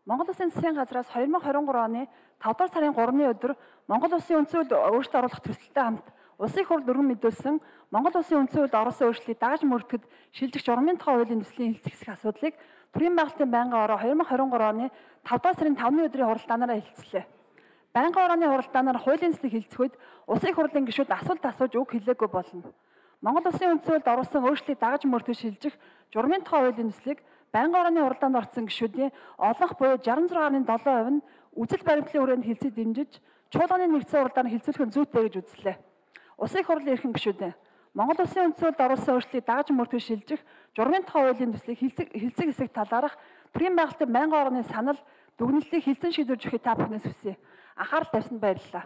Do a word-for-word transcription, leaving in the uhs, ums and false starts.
Монгол Улсын засгийн газраас хоёр мың хорин гурав оны тавдар сарын гуравны өдөр Монгол Улсын үндсэн хуульд өөрчлөлт оруулах төсөлтэй хамт Улсын их хурл өргөн мэдүүлсэн Монгол Улсын үндсэн хуульд оруулсан өөрчлөлтийг дагаж мөрдөхөд шилжих журмын тухай хуулийн төслийн хэлцэх асуудлыг Төрийн байгуулалтын байнгын ороо хоёр мың хорин гурав оны тавдар сарын тавны өдрийн хуралдаанаараа хэлцлээ. Байнгын орооны хуралдаанаар хуулийн төслийг хэлцэх үед Улсын их хурлын гишүүд асуулт асууж үг хэлээгүй болно. Монгол Улсын үндсэн хуульд оруулсан өөрчлөлтийг дагаж мөрдөхөд шилжих журмын тухай хуулийн төслийг байнгын орооны хуралдаанд орсон гишүүдийн олонх буюу шестьдесят шесть гаруй семь хувь нь үзэл баримтлалын хүрээнд хэлцээ дэмжиж чуулганы нэгдсэн хуралдаанд хэлцүүлэх нь зүйтэй гэж үзлээ. Улсын их хурлын эрхэм гишүүдээ Монгол Улсын үндсэн хуульд оруулсан өөрчлөлтийг дагаж мөрдөхөд шилжих журмын тухай хуулийн төслийг хэлцэг хэлцэг хэсэг талаарх Төрийн байгуулалтын байнгын орооны санал дүгнэлтийг хэлсэн шийдвэрж өгөхийг та бүхнээс хүсье. Анхаарал тавьсанд баярлалаа.